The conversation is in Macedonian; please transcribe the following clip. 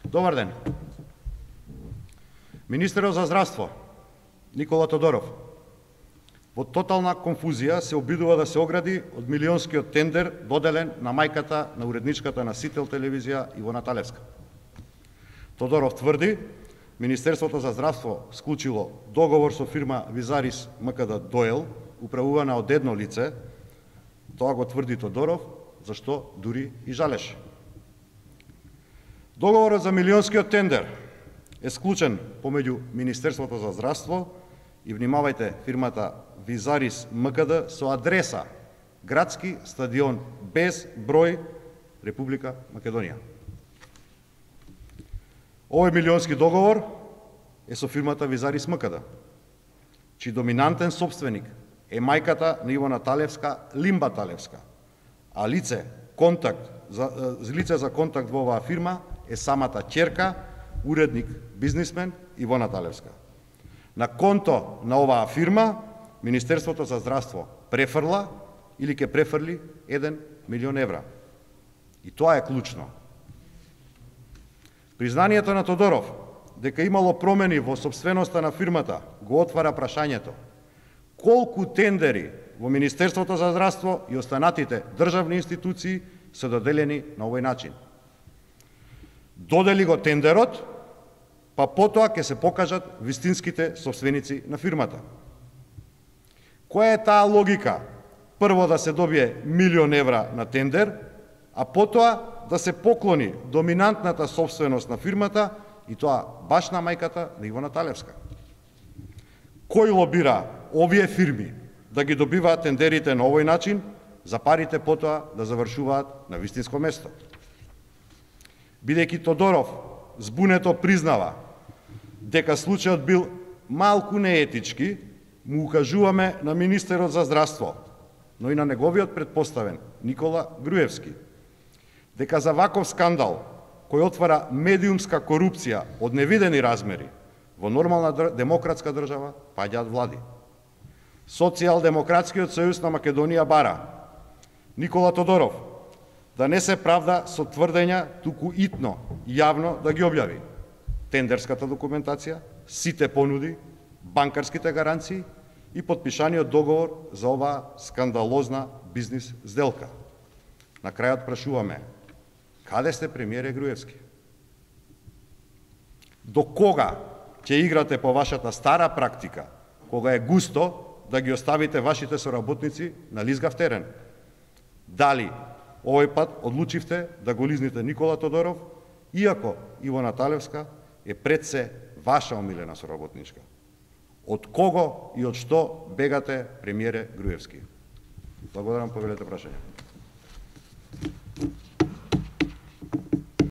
Добар ден. Министерот за здравство Никола Тодоров во тотална конфузија се обидува да се огради од милионскиот тендер доделен на мајката на уредничката на Сител телевизија Ивона Талевска. Тодоров тврди Министерството за здравство склучило договор со фирма Визарис МКД Доел, управувана од едно лице. Тоа го тврди Тодоров, зашто дури и жалеше. Договорот за милионскиот тендер е склучен помеѓу Министерството за здравство и, внимавајте, фирмата Визарис МКД со адреса Градски стадион без број, Република Македонија. Овој милионски договор е со фирмата Визарис МКД, чиј доминантен собственик е мајката на Ивона Талевска, Лимба Талевска, а лице за контакт во оваа фирма е самата ќерка, уредник, бизнисмен Ивона Талевска. На конто на оваа фирма Министерството за здравство префрла или ќе префрли 1 милион евра. И тоа е клучно. Признанието на Тодоров дека имало промени во собственоста на фирмата го отвара прашањето колку тендери во Министерството за здравство и останатите државни институции се доделени на овој начин. Додели го тендерот, па потоа ќе се покажат вистинските собственици на фирмата. Која е таа логика? Прво да се добие 1 милион евра на тендер, а потоа да се поклони доминантната собственост на фирмата и тоа баш на мајката на Ивона Талевска. Кој лобира овие фирми да ги добиваат тендерите на овој начин, за парите потоа да завршуваат на вистинско место? Бидејќи Тодоров збунето признава дека случајот бил малку неетички, му укажуваме на министерот за здравство, но и на неговиот предпоставен Никола Груевски, дека за ваков скандал, кој отвара медиумска корупција од невидени размери, во нормална демократска држава паѓаат влади. Социјалдемократскиот сојуз на Македонија бара Никола Тодоров да не се правда со тврдења, туку итно, јавно да ги објави тендерската документација, сите понуди, банкарските гаранции и подпишаниот договор за оваа скандалозна бизнис сделка. На крајот прашуваме, каде сте, премиере Груевски? До кога ќе играте по вашата стара практика, кога е густо да ги оставите вашите соработници на лизгав терен? Дали овој пат одлучивте да го лизните Никола Тодоров, иако Ивона Талевска е пред се ваша омилена соработничка? Од кого и од што бегате, премиере Груевски? Благодарам, повелете прашање.